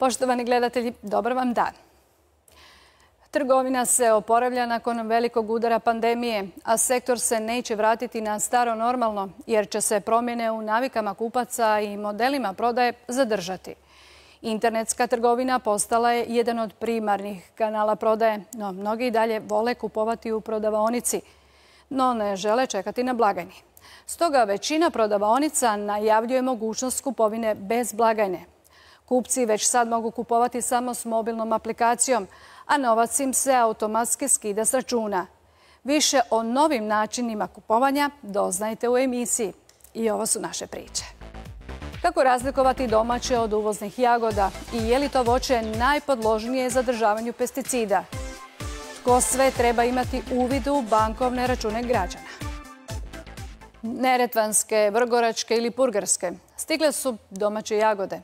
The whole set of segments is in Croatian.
Poštovani gledatelji, dobar vam dan. Trgovina se oporavlja nakon velikog udara pandemije, a sektor se neće vratiti na staro normalno jer će se promjene u navikama kupaca i modelima prodaje zadržati. Internetska trgovina postala je jedan od primarnih kanala prodaje, no mnogi i dalje vole kupovati u prodavaonici, no ne žele čekati na blagajni. Stoga većina prodavaonica najavljuje mogućnost kupovine bez blagajne. Kupci već sad mogu kupovati samo s mobilnom aplikacijom, a novac im se automatski skida s računa. Više o novim načinima kupovanja doznajte u emisiji. I ovo su naše priče. Kako razlikovati domaće od uvoznih jagoda i je li to voće najpodložnije zadržavanju pesticida? Tko sve treba imati uvid u bankovne račune građana? Neretvanske, vrgoračke ili purgerske stigle su domaće jagode.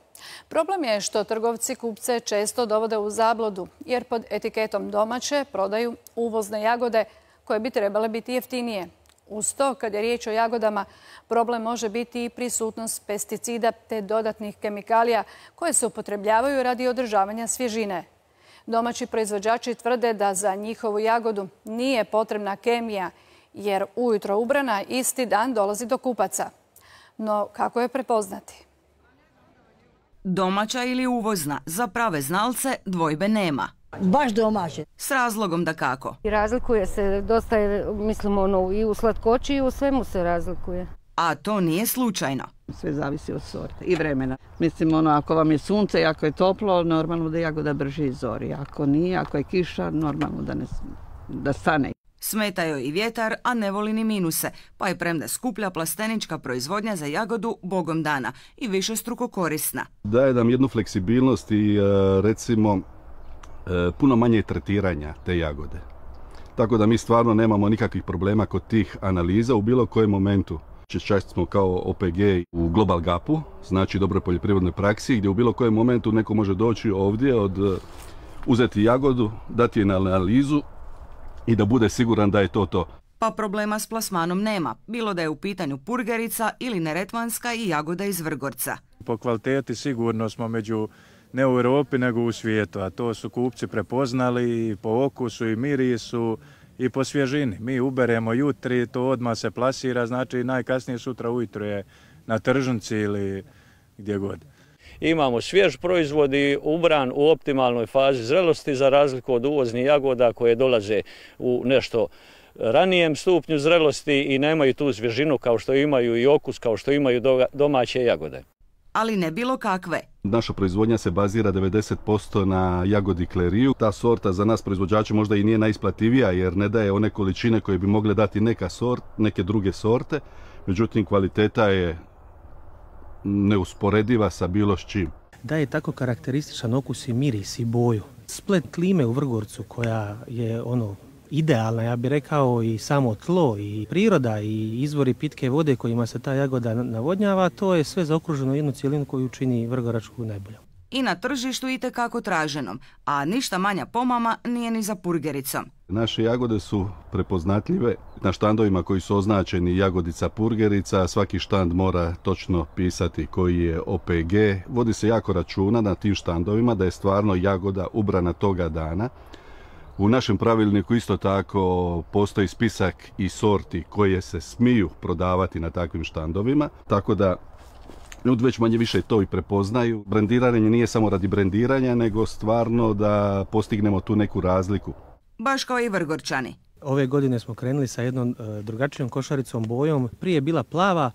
Problem je što trgovci kupce često dovode u zabludu jer pod etiketom domaće prodaju uvozne jagode koje bi trebale biti jeftinije. Uz to, kad je riječ o jagodama, problem može biti i prisutnost pesticida te dodatnih kemikalija koje se upotrebljavaju radi održavanja svježine. Domaći proizvođači tvrde da za njihovu jagodu nije potrebna kemija jer ujutro ubrana isti dan dolazi do kupaca. No kako je prepoznati? Domaća ili uvozna, za prave znalce dvojbe nema. Baš domaće. S razlogom dakako. Razlikuje se dosta, mislim, i u slatkoći i u svemu se razlikuje. A to nije slučajno. Sve zavisi od sorte i vremena. Mislim, ako vam je sunce i ako je toplo, normalno da jagoda brže izori. Ako nije, ako je kiša, normalno da stane. Smeta joj i vjetar, a ne voli ni minuse, pa je premda skuplja plastenička proizvodnja za jagodu bogom dana i višestruko korisna. Daje nam jednu fleksibilnost i recimo puno manje tretiranja te jagode. Tako da mi stvarno nemamo nikakvih problema kod tih analiza u bilo kojem momentu. Čak smo kao OPG u Global GAP-u, znači dobroj poljoprivrednoj praksi, gdje u bilo kojem momentu neko može doći ovdje, uzeti jagodu, dati je na analizu i da bude siguran da je to. Pa problema s plasmanom nema, bilo da je u pitanju purgerica ili neretvanska i jagoda iz Vrgorca. Po kvaliteti sigurno smo među ne u Europi nego u svijetu, a to su kupci prepoznali i po okusu i mirisu i po svježini. Mi uberemo jutri, to odmah se plasira, znači najkasnije sutra ujutro je na tržnici ili gdje god. Imamo svjež proizvod i ubran u optimalnoj fazi zrelosti za razliku od uvoznih jagoda koje dolaze u nešto ranijem stupnju zrelosti i nemaju tu svježinu kao što imaju i okus kao što imaju domaće jagode. Ali ne bilo kakve. Naša proizvodnja se bazira 90% na jagodi kleriju. Ta sorta za nas proizvođače možda i nije najisplativija jer ne daje one količine koje bi mogle dati neke druge sorte. Međutim, kvaliteta je neusporediva sa bilo s čim. Daje tako karakterističan okus i miris i boju. Splet klime u Vrgorcu koja je idealna, ja bih rekao, i samo tlo i priroda i izvori pitke vode kojima se ta jagoda navodnjava, to je sve zaokruženo jednu cjelinu koju čini Vrgoračku najboljom. I na tržištu itekako traženom, a ništa manja pomama nije ni za purgericom. Naše jagode su prepoznatljive na štandovima koji su označeni jagodica purgerica. Svaki štand mora točno pisati koji je OPG. Vodi se jako računa na tim štandovima da je stvarno jagoda ubrana toga dana. U našem pravilniku isto tako postoji spisak i sorti koje se smiju prodavati na takvim štandovima. Tako da ljudi već manje više to i prepoznaju. Brendiranje nije samo radi brendiranja, nego stvarno da postignemo tu neku razliku. Baš kao i Vrgorčani. Ove godine smo krenuli sa jednom drugačijom košaricom bojom. Prije je bila plava.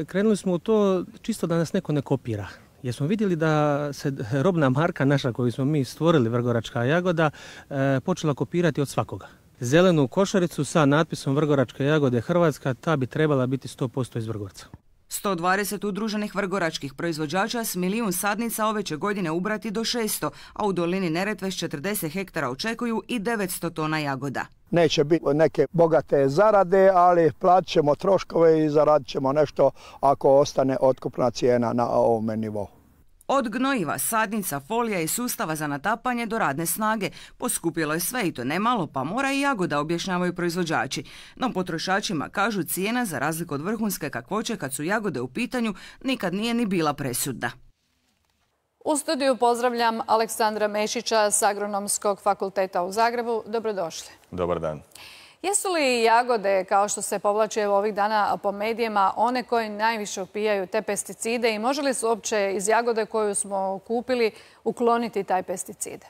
Krenuli smo u to čisto da nas neko ne kopira. Jer smo vidjeli da se robna marka naša koju smo mi stvorili, Vrgoračka jagoda, počela kopirati od svakoga. Zelenu košaricu sa natpisom Vrgoračke jagode Hrvatska, ta bi trebala biti 100% iz Vrgorca. 120 udruženih vrgoračkih proizvođača s 1.000.000 sadnica ove će godine ubrati do 600, a u dolini Neretve s 40 hektara očekuju i 900 tona jagoda. Neće biti neke bogate zarade, ali platit ćemo troškove i zaradit ćemo nešto ako ostane otkupna cijena na ovome nivou. Od gnojiva, sadnica, folija i sustava za natapanje do radne snage poskupilo je sve i to nemalo, pa mora i jagoda, objašnjavaju proizvođači. No potrošačima kažu cijena za razliku od vrhunske kakvoće kad su jagode u pitanju nikad nije ni bila presudna. U studiju pozdravljam Aleksandra Mešića s Agronomskog fakulteta u Zagrebu. Dobrodošli. Dobar dan. Jesu li jagode, kao što se povlače ovih dana po medijima, one koje najviše upijaju te pesticide i može li se uopće iz jagode koju smo kupili ukloniti taj pesticide?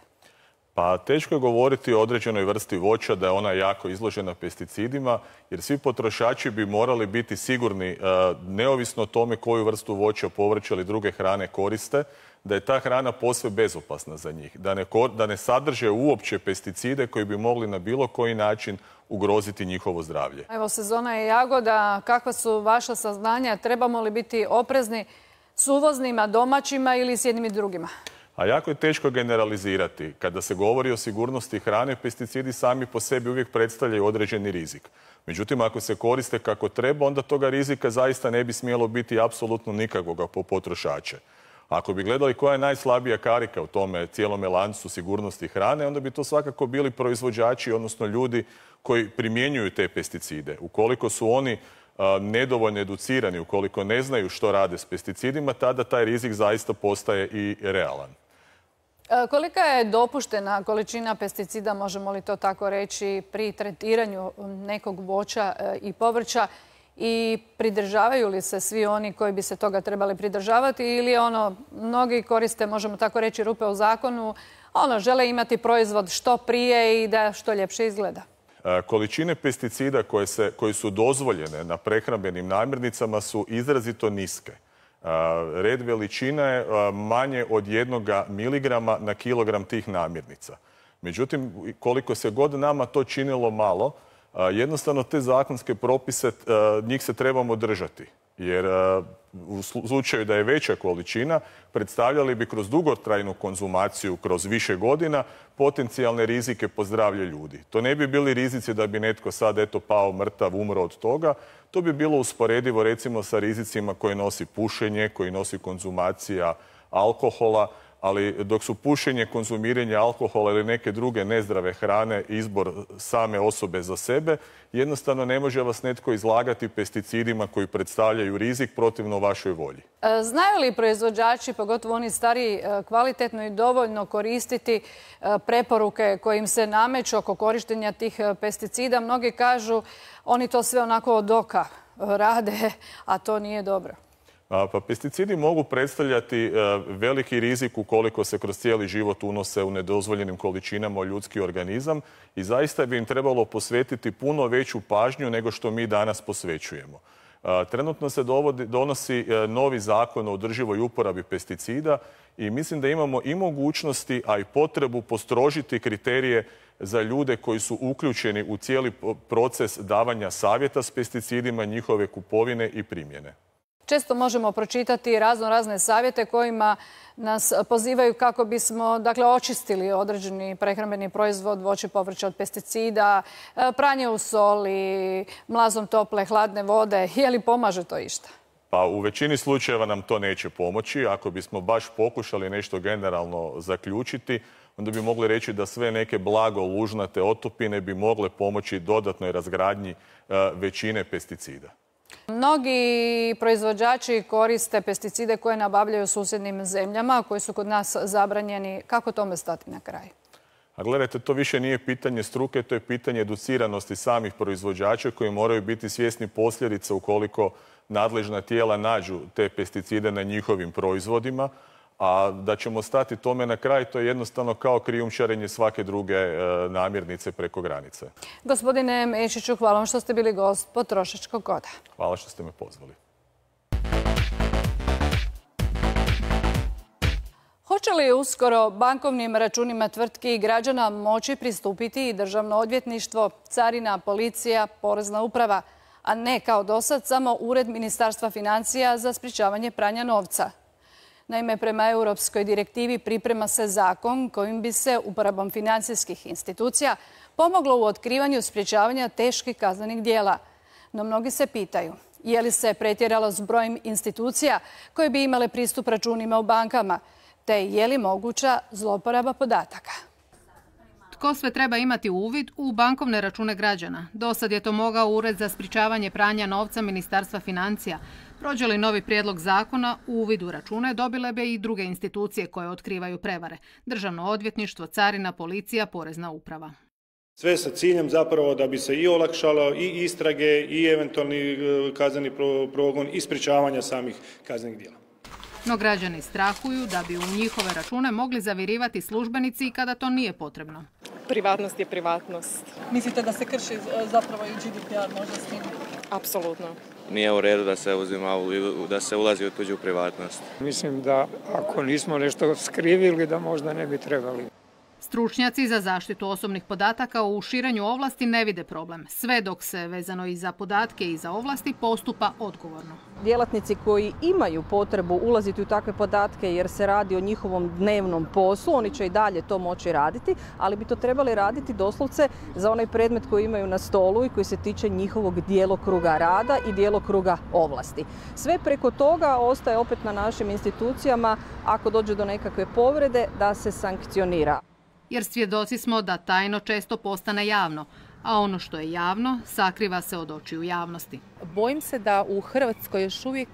Pa teško je govoriti o određenoj vrsti voća da je ona jako izložena pesticidima, jer svi potrošači bi morali biti sigurni, neovisno o tome koju vrstu voća, povrća ili druge hrane koriste, da je ta hrana posve bezopasna za njih, da ne sadrže uopće pesticide koji bi mogli na bilo koji način ugroziti njihovo zdravlje. Evo, sezona je jagoda. Kakva su vaša saznanja? Trebamo li biti oprezni s uvoznima, domaćima ili s jednim i drugima? A jako je teško generalizirati. Kada se govori o sigurnosti hrane, pesticidi sami po sebi uvijek predstavljaju određeni rizik. Međutim, ako se koriste kako treba, onda toga rizika zaista ne bi smjelo biti apsolutno nikakvoga po potrošače. Ako bi gledali koja je najslabija karika u tome cijelome lancu sigurnosti hrane, onda bi to svakako bili proizvođači, odnosno ljudi koji primjenjuju te pesticide. Ukoliko su oni nedovoljno educirani, ukoliko ne znaju što rade s pesticidima, tada taj rizik zaista postaje i realan. Kolika je dopuštena količina pesticida, možemo li to tako reći, pri tretiranju nekog voća i povrća i pridržavaju li se svi oni koji bi se toga trebali pridržavati ili mnogi koriste, možemo tako reći, rupe u zakonu, žele imati proizvod što prije i da što ljepše izgleda? Količine pesticida koje su dozvoljene na prehrambenim namirnicama su izrazito niske. Red veličina je manje od 1 miligrama na kilogram tih namirnica. Međutim, koliko se god nama to činilo malo, jednostavno te zakonske propise, njih se trebamo držati. Jer u slučaju da je veća količina, predstavljali bi kroz dugotrajnu konzumaciju, kroz više godina, potencijalne rizike po zdravlje ljudi. To ne bi bili rizici da bi netko sad pao mrtav, umro od toga. To bi bilo usporedivo recimo sa rizicima koje nosi pušenje, koji nosi konzumacija alkohola, ali dok su pušenje, konzumiranje alkohola ili neke druge nezdrave hrane izbor same osobe za sebe, jednostavno ne može vas netko izlagati pesticidima koji predstavljaju rizik protivno vašoj volji. Znaju li proizvođači, pogotovo oni stariji, kvalitetno i dovoljno koristiti preporuke koje im se nameću oko korištenja tih pesticida? Mnogi kažu oni to sve onako od oka rade, a to nije dobro. Pa pesticidi mogu predstavljati veliki rizik ukoliko se kroz cijeli život unose u nedozvoljenim količinama u ljudski organizam i zaista bi im trebalo posvetiti puno veću pažnju nego što mi danas posvećujemo. Trenutno se donosi novi zakon o održivoj uporabi pesticida i mislim da imamo i mogućnosti, a i potrebu postrožiti kriterije za ljude koji su uključeni u cijeli proces davanja savjeta s pesticidima, njihove kupovine i primjene. Često možemo pročitati razne savjete kojima nas pozivaju kako bismo očistili određeni prehrambeni proizvod, voće, povrće od pesticida, pranje u soli, mlazom tople, hladne vode. Je li pomaže to išta? Pa u većini slučajeva nam to neće pomoći. Ako bismo baš pokušali nešto generalno zaključiti, onda bi mogli reći da sve neke blago lužnate otopine bi mogle pomoći dodatnoj razgradnji većine pesticida. Mnogi proizvođači koriste pesticide koje nabavljaju u susjednim zemljama, koji su kod nas zabranjeni. Kako tome stati na kraj? A gledajte, to više nije pitanje struke, to je pitanje educiranosti samih proizvođača koji moraju biti svjesni posljedica ukoliko nadležna tijela nađu te pesticide na njihovim proizvodima. A da ćemo stati tome na kraj, to je jednostavno kao krijumčarenje svake druge namirnice preko granice. Gospodine Mešiću, hvala vam što ste bili gost Potrošačkog koda. Hvala što ste me pozvali. Hoće li uskoro bankovnim računima tvrtki i građana moći pristupiti i Državno odvjetništvo, carina, policija, porezna uprava, a ne kao dosad samo Ured Ministarstva financija za sprječavanje pranja novca? Naime, prema europskoj direktivi priprema se zakon kojim bi se uporabom financijskih institucija pomoglo u otkrivanju sprječavanja teških kaznenih djela. No mnogi se pitaju, je li se pretjeralo s brojem institucija koje bi imale pristup računima u bankama, te je li moguća zloporaba podataka? Tko sve treba imati uvid u bankovne račune građana? Dosad je to mogao Ured za sprječavanje pranja novca Ministarstva financija. Prođe li novi prijedlog zakona, uvid u račune dobile bi i druge institucije koje otkrivaju prevare. Državno odvjetništvo, carina, policija, porezna uprava. Sve sa ciljem zapravo da bi se i olakšalo i istrage i eventualni kazneni progon i sprječavanja samih kaznenih djela. No građani strahuju da bi u njihove račune mogli zavirivati službenici kada to nije potrebno. Privatnost je privatnost. Mislite da se krši zapravo i GDPR možda s tim? Apsolutno. Nije u redu da se da se ulazi u tuđu privatnost. Mislim da ako nismo nešto skrivili da možda ne bi trebali. Stručnjaci za zaštitu osobnih podataka u širenju ovlasti ne vide problem, sve dok se vezano i za podatke i za ovlasti postupa odgovorno. Djelatnici koji imaju potrebu ulaziti u takve podatke jer se radi o njihovom dnevnom poslu, oni će i dalje to moći raditi, ali bi to trebali raditi doslovce za onaj predmet koji imaju na stolu i koji se tiče njihovog djelokruga rada i djelokruga ovlasti. Sve preko toga ostaje opet na našim institucijama, ako dođe do nekakve povrede, da se sankcionira. Jer svjedoci smo da tajno često postane javno, a ono što je javno sakriva se od očiju javnosti. Bojim se da u Hrvatskoj još uvijek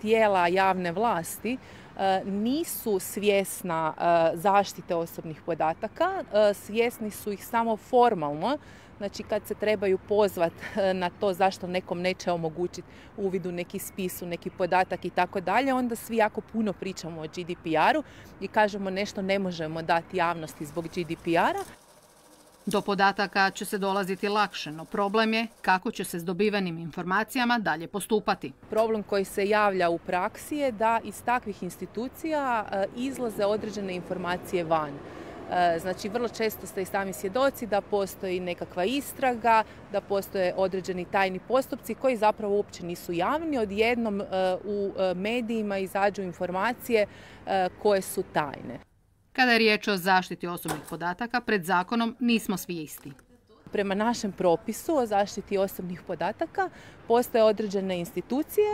tijela javne vlasti nisu svjesna zaštite osobnih podataka, svjesni su ih samo formalno. Znači kad se trebaju pozvati na to zašto nekom neće omogućiti uvid u neki spis, u neki podatak i tako dalje, onda svi jako puno pričamo o GDPR-u i kažemo nešto ne možemo dati javnosti zbog GDPR-a. Do podataka će se dolaziti lakše, no problem je kako će se s dobivenim informacijama dalje postupati. Problem koji se javlja u praksi je da iz takvih institucija izlaze određene informacije van. Znači, vrlo često ste i sami svjedoci da postoji nekakva istraga, da postoje određeni tajni postupci koji zapravo uopće nisu javni. Odjednom u medijima izađu informacije koje su tajne. Kada je riječ o zaštiti osobnih podataka, pred zakonom nismo svi isti. Prema našem propisu o zaštiti osobnih podataka postoje određene institucije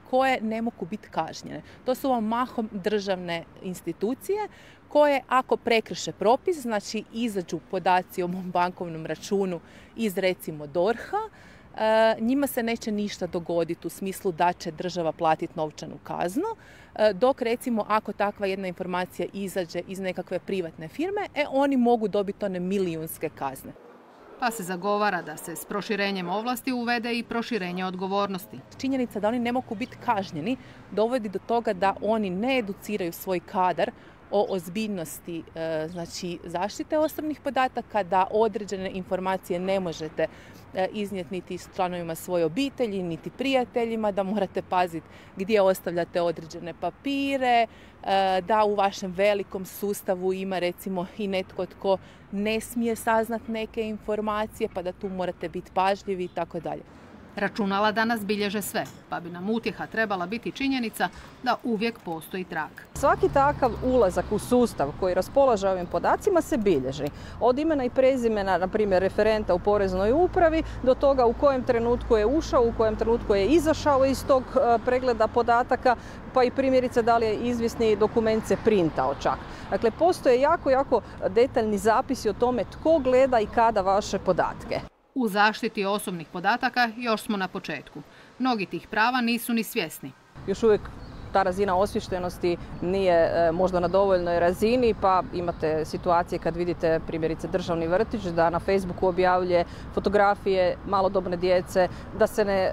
koje ne mogu biti kažnjene. To su vam mahom državne institucije koje ako prekrše propis, znači izađu podaci o mom bankovnom računu iz recimo DORH-a, njima se neće ništa dogoditi u smislu da će država platiti novčanu kaznu, dok recimo ako takva jedna informacija izađe iz nekakve privatne firme, oni mogu dobiti one milijunske kazne. Pa se zagovara da se s proširenjem ovlasti uvede i proširenje odgovornosti. Činjenica da oni ne mogu biti kažnjeni dovodi do toga da oni ne educiraju svoj kadar o ozbiljnosti znači, zaštite osobnih podataka, da određene informacije ne možete iznijeti niti s članovima svoje obitelji, niti prijateljima, da morate paziti gdje ostavljate određene papire, da u vašem velikom sustavu ima recimo i netko tko ne smije saznati neke informacije, pa da tu morate biti pažljivi i tako dalje. Računala danas bilježe sve, pa bi nam utjeha trebala biti činjenica da uvijek postoji trag. Svaki takav ulazak u sustav koji raspolaže ovim podacima se bilježi. Od imena i prezimena, na primjer, referenta u poreznoj upravi, do toga u kojem trenutku je ušao, u kojem trenutku je izašao iz tog pregleda podataka, pa i primjerice da li je izvisni dokument se printao čak. Dakle, postoje jako detaljni zapisi o tome tko gleda i kada vaše podatke. U zaštiti osobnih podataka još smo na početku. Mnogi tih prava nisu ni svjesni. Još uvijek ta razina osviještenosti nije možda na dovoljnoj razini, pa imate situacije kad vidite primjerice državni vrtić da na Facebooku objavljuje fotografije malodobne djece, da se ne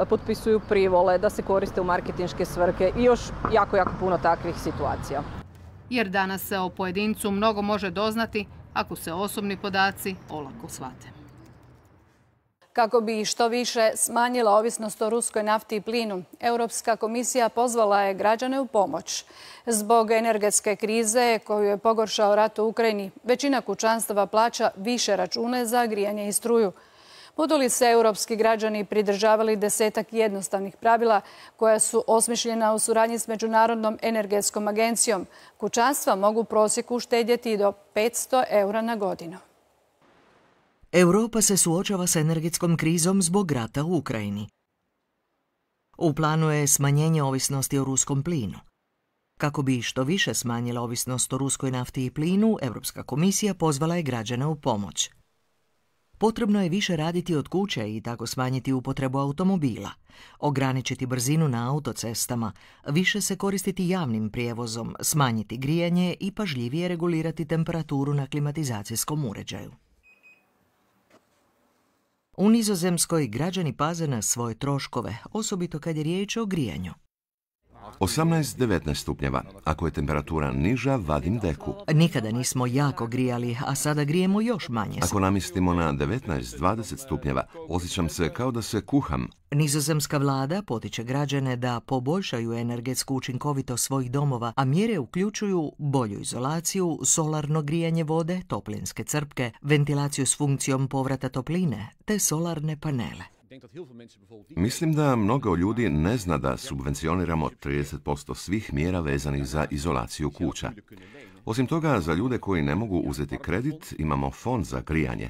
potpisuju privole, da se koriste u marketinške svrhe i još jako puno takvih situacija. Jer danas se o pojedincu mnogo može doznati ako se osobni podaci olako shvate. Kako bi što više smanjila ovisnost o ruskoj nafti i plinu, Europska komisija pozvala je građane u pomoć. Zbog energetske krize koju je pogoršao rat u Ukrajini, većina kućanstava plaća više račune za grijanje i struju. Budu li se europski građani pridržavali 10 jednostavnih pravila koja su osmišljena u suradnji s Međunarodnom energetskom agencijom, kućanstva mogu u prosjeku uštedjeti do 500 eura na godinu. Europa se suočava s energetskom krizom zbog rata u Ukrajini. U planu je smanjenje ovisnosti o ruskom plinu. Kako bi što više smanjila ovisnost o ruskoj nafti i plinu, Europska komisija pozvala je građane u pomoć. Potrebno je više raditi od kuće i tako smanjiti upotrebu automobila, ograničiti brzinu na autocestama, više se koristiti javnim prijevozom, smanjiti grijanje i pažljivije regulirati temperaturu na klimatizacijskom uređaju. U Nizozemskoj građani paze na svoje troškove, osobito kad je riječ o grijanju. 18-19 stupnjeva. Ako je temperatura niža, vadim deku. Nikada nismo jako grijali, a sada grijemo još manje. Ako namjestimo na 19-20 stupnjeva, osjećam se kao da se kuham. Nizozemska vlada potiče građane da poboljšaju energetsku učinkovitost svojih domova, a mjere uključuju bolju izolaciju, solarno grijanje vode, toplinske crpke, ventilaciju s funkcijom povrata topline te solarne panele. Mislim da mnogo ljudi ne zna da subvencioniramo 30% svih mjera vezanih za izolaciju kuća. Osim toga, za ljude koji ne mogu uzeti kredit, imamo fond za grijanje.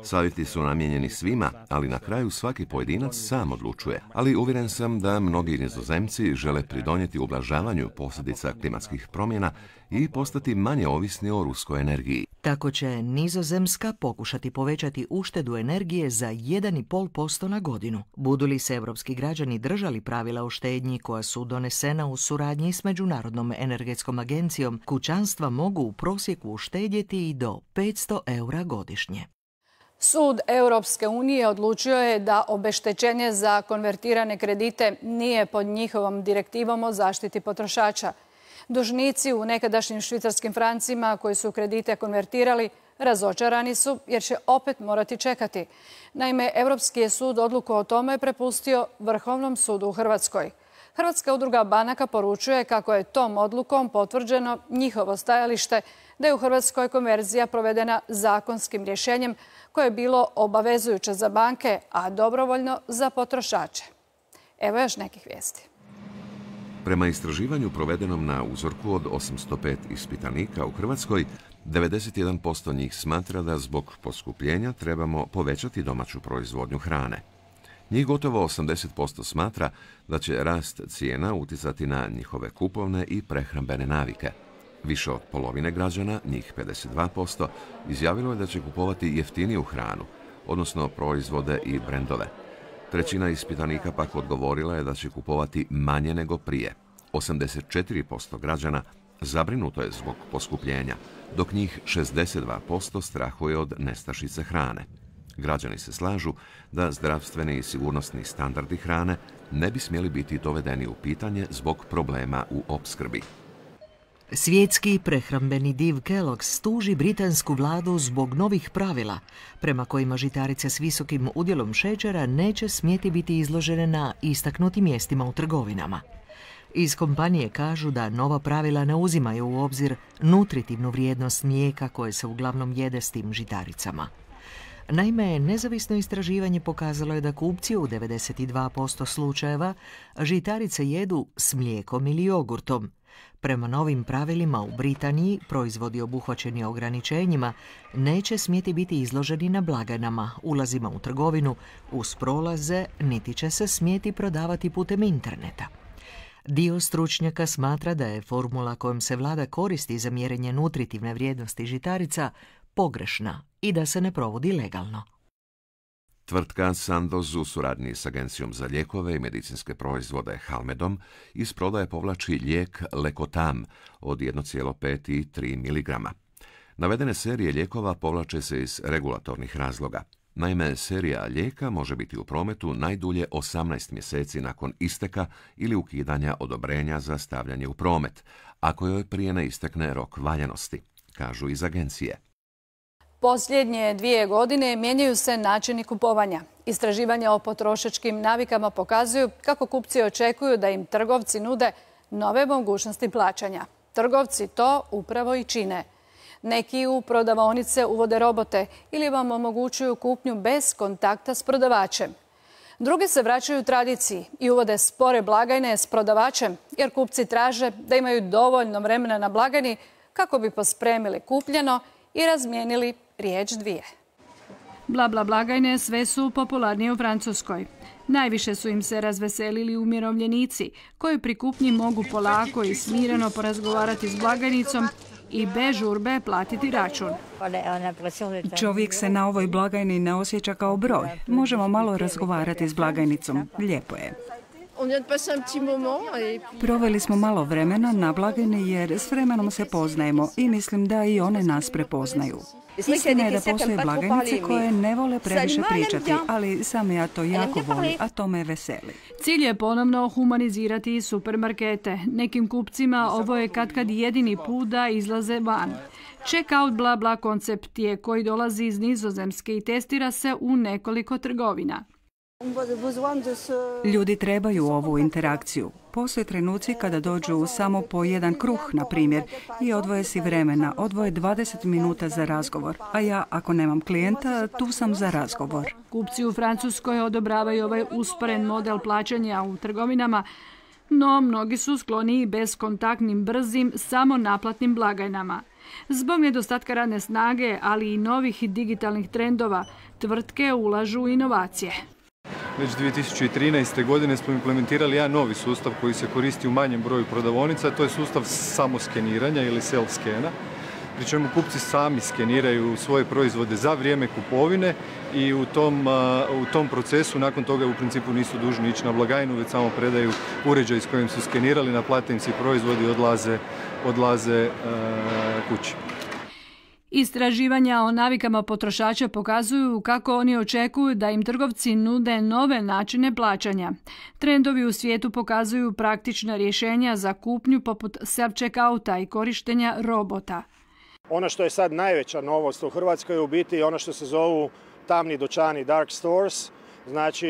Savjeti su namijenjeni svima, ali na kraju svaki pojedinac sam odlučuje. Ali uvjeren sam da mnogi Nizozemci žele pridonijeti ublažavanju posljedica klimatskih promjena i postati manje ovisni o ruskoj energiji. Tako će Nizozemska pokušati povećati uštedu energije za 1,5% na godinu. Budu li se evropski građani držali pravila o štednji koja su donesena u suradnji s Međunarodnom energetskom agencijom, kućanstva mogu u prosjeku uštedjeti i do 500 eura godišnje. Sud Europske unije odlučio je da obeštećenje za konvertirane kredite nije pod njihovom direktivom o zaštiti potrošača. Dužnici u nekadašnjim švicarskim francima koji su kredite konvertirali razočarani su jer će opet morati čekati. Naime, Europski je sud odluku o tome prepustio Vrhovnom sudu u Hrvatskoj. Hrvatska udruga banaka poručuje kako je tom odlukom potvrđeno njihovo stajalište da je u Hrvatskoj konverzija provedena zakonskim rješenjem koje je bilo obavezujuće za banke, a dobrovoljno za potrošače. Evo još nekih vijesti. Prema istraživanju provedenom na uzorku od 805 ispitanika u Hrvatskoj, 91% njih smatra da zbog poskupljenja trebamo povećati domaću proizvodnju hrane. Njih gotovo 80% smatra da će rast cijena utjecati na njihove kupovne i prehrambene navike. Više od polovine građana, njih 52%, izjavilo je da će kupovati jeftiniju hranu, odnosno proizvode i brendove. Trećina ispitanika pak odgovorila je da će kupovati manje nego prije. 84% građana zabrinuto je zbog poskupljenja, dok njih 62% strahuje od nestašice hrane. Građani se slažu da zdravstveni i sigurnosni standardi hrane ne bi smjeli biti dovedeni u pitanje zbog problema u opskrbi. Svjetski prehrambeni div Kellogg's tuži britansku vladu zbog novih pravila, prema kojima žitarice s visokim udjelom šećera neće smjeti biti izložene na istaknutim mjestima u trgovinama. Iz kompanije kažu da nova pravila ne uzimaju u obzir nutritivnu vrijednost mlijeka koje se uglavnom jede s tim žitaricama. Naime, nezavisno istraživanje pokazalo je da kupci u 92% slučajeva žitarice jedu s mlijekom ili jogurtom. Prema novim pravilima u Britaniji proizvodi obuhvaćeni ograničenjima neće smjeti biti izloženi na blagajnama, ulazima u trgovinu, uz prolaze, niti će se smjeti prodavati putem interneta. Dio stručnjaka smatra da je formula kojom se vlada koristi za mjerenje nutritivne vrijednosti žitarica pogrešna i da se ne provodi legalno. Tvrtka Sandoz u suradnji s Agencijom za lijekove i medicinske proizvode Halmedom iz prodaje povlači lijek Lekotam od 1,5 i 3 mg. Navedene serije lijekova povlače se iz regulatornih razloga. Naime, serija lijeka može biti u prometu najdulje 18 mjeseci nakon isteka ili ukidanja odobrenja za stavljanje u promet, ako joj prije ne istekne rok valjanosti, kažu iz agencije. Posljednje 2 godine mijenjaju se načini kupovanja. Istraživanja o potrošačkim navikama pokazuju kako kupci očekuju da im trgovci nude nove mogućnosti plaćanja. Trgovci to upravo i čine. Neki u prodavaonice uvode robote ili vam omogućuju kupnju bez kontakta s prodavačem. Drugi se vraćaju tradiciji i uvode spore blagajne s prodavačem jer kupci traže da imaju dovoljno vremena na blagajni kako bi pospremili kupljeno i razmijenili riječ dvije. Bla bla blagajne sve su popularnije u Francuskoj. Najviše su im se razveselili umirovljenici, koji pri kupnji mogu polako i smireno porazgovarati s blagajnicom i bez žurbe platiti račun. Čovjek se na ovoj blagajni ne osjeća kao broj. Možemo malo razgovarati s blagajnicom. Lijepo je. Proveli smo malo vremena na blagajni jer s vremenom se poznajemo i mislim da i one nas prepoznaju. Istina je da postoje blagajnice koje ne vole previše pričati, ali sam ja to jako volim, a to me veseli. Cilj je ponovno humanizirati supermarkete. Nekim kupcima ovo je katkad jedini put da izlaze van. Check-out bla bla koncept je koji dolazi iz Nizozemske i testira se u nekoliko trgovina. Ljudi trebaju ovu interakciju. Postoje trenuci kada dođu samo po jedan kruh, na primjer, i odvoje si vremena, odvoje 20 minuta za razgovor. A ja, ako nemam klijenta, tu sam za razgovor. Kupci u Francuskoj odobravaju ovaj usporen model plaćanja u trgovinama, no mnogi su skloniji bezkontaktnim, brzim, samo naplatnim blagajnama. Zbog nedostatka radne snage, ali i novih digitalnih trendova, tvrtke ulažu u inovacije. Već 2013. godine smo implementirali jedan novi sustav koji se koristi u manjem broju prodavaonica, to je sustav samoskeniranja ili self-skena, pri čemu kupci sami skeniraju svoje proizvode za vrijeme kupovine i u tom procesu nakon toga u principu nisu dužni ići na blagajnu, već samo predaju uređaj s kojim su skenirali, naplate im se proizvodi i odlaze kući. Istraživanja o navikama potrošača pokazuju kako oni očekuju da im trgovci nude nove načine plaćanja. Trendovi u svijetu pokazuju praktična rješenja za kupnju poput self-checkouta i korištenja robota. Ono što je sad najveća novost u Hrvatskoj je u biti ono što se zovu tamni dućani, dark stores. Znači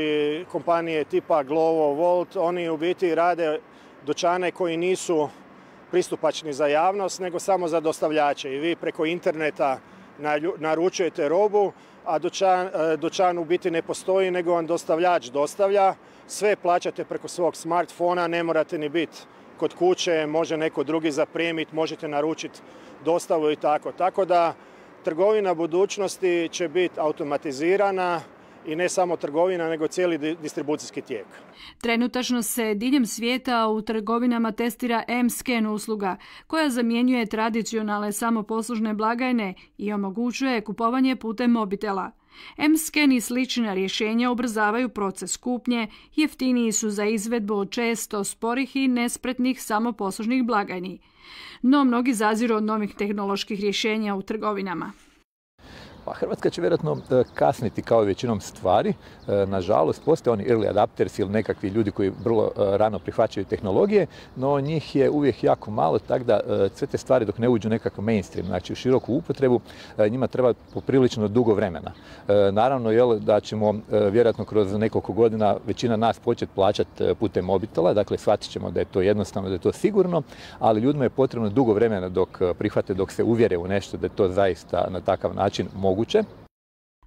kompanije tipa Glovo, Volt, oni u biti rade dućane koji nisu pristupačni za javnost, nego samo za dostavljače. I vi preko interneta naručujete robu, a dućan u biti ne postoji, nego vam dostavljač dostavlja. Sve plaćate preko svog smartfona, ne morate ni biti kod kuće, može neko drugi zapremiti, možete naručiti dostavu i tako. Tako da trgovina budućnosti će biti automatizirana i ne samo trgovina, nego cijeli distribucijski tijek. Trenutačno se diljem svijeta u trgovinama testira M-Scan usluga, koja zamjenjuje tradicionalne samoposlužne blagajne i omogućuje kupovanje putem mobitela. M-Scan i slična rješenja ubrzavaju proces kupnje, jeftiniji su za izvedbu od često sporih i nespretnih samoposlužnih blagajni. No mnogi zaziru od novih tehnoloških rješenja u trgovinama. Pa Hrvatska će vjerojatno kasniti kao i većinom stvari. Nažalost, postoje oni early adapters ili nekakvi ljudi koji vrlo rano prihvaćaju tehnologije, no njih je uvijek jako malo, tako da sve te stvari dok ne uđu nekakav mainstream, znači u široku upotrebu, njima treba poprilično dugo vremena. Naravno, da ćemo vjerojatno kroz nekoliko godina većina nas početi plaćati putem mobitela, dakle shvatit ćemo da je to jednostavno, da je to sigurno, ali ljudima je potrebno dugo vremena dok prihvate, dok se uvjere u nešto da je to zaista na takav način moguće.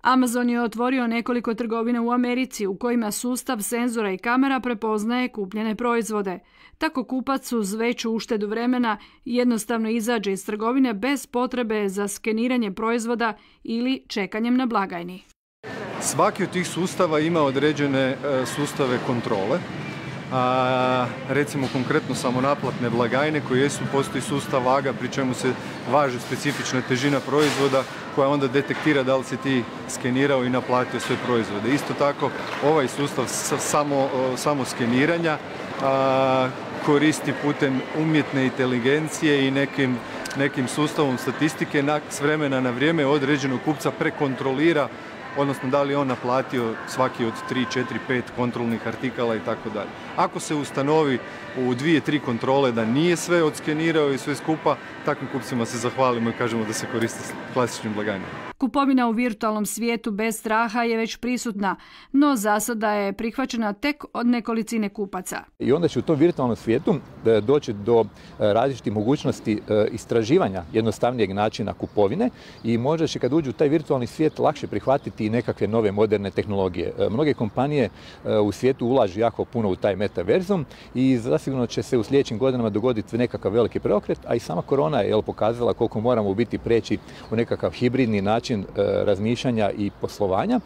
Amazon je otvorio nekoliko trgovina u Americi u kojima sustav senzora i kamera prepoznaje kupljene proizvode. Tako kupac uz veću uštedu vremena jednostavno izađe iz trgovine bez potrebe za skeniranje proizvoda ili čekanjem na blagajni. Svaki od tih sustava ima određene sustave kontrole. Recimo konkretno samonaplatne blagajne koje postoji sustav vaga pri čemu se važi specifična težina proizvoda koja onda detektira da li si ti skenirao i naplatio sve proizvode. Isto tako ovaj sustav samo skeniranja koristi putem umjetne inteligencije i nekim sustavom statistike s vremena na vrijeme određenog kupca prekontrolira, odnosno da li je on naplatio svaki od 3, 4, 5 kontrolnih artikala i tako dalje. Ako se ustanovi u 2-3 kontrole da nije sve odskenirao i sve skupa, takvim kupcima se zahvalimo i kažemo da se koriste klasičnim blagajnama. Kupovina u virtualnom svijetu bez straha je već prisutna, no za sada je prihvaćena tek od nekolicine kupaca. I onda će u tom virtualnom svijetu doći do različitih mogućnosti istraživanja jednostavnijeg načina kupovine i možda će kad uđu u taj virtualni svijet lakše prihvatiti i nekakve nove moderne tehnologije. Mnoge kompanije u svijetu ulažu jako puno u taj metaverzum i zasigurno će se u sljedećim godinama dogoditi nekakav veliki preokret, a i sama korona je pokazala koliko moramo biti preći u nekakav hibridni način razmišljanja i poslovanja.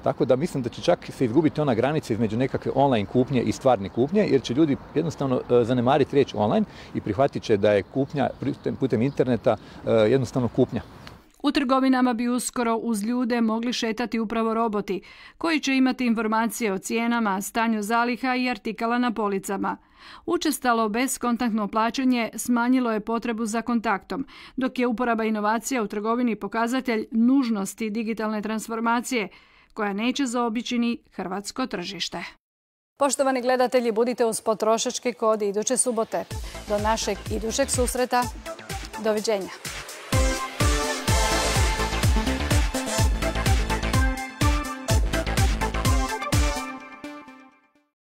Tako da mislim da će čak se izgubiti ona granica između nekakve online kupnje i stvarne kupnje, jer će ljudi jednostavno zanemariti riječ online i prihvatit će da je kupnja putem interneta jednostavno kupnja. U trgovinama bi uskoro uz ljude mogli šetati upravo roboti, koji će imati informacije o cijenama, stanju zaliha i artikala na policama. Učestalo bezkontaktno plaćanje smanjilo je potrebu za kontaktom, dok je uporaba inovacija u trgovini pokazatelj nužnosti digitalne transformacije, koja neće zaobići ni hrvatsko tržište. Poštovani gledatelji, budite uz Potrošački kod iduće subote. Do našeg idućeg susreta. Doviđenja.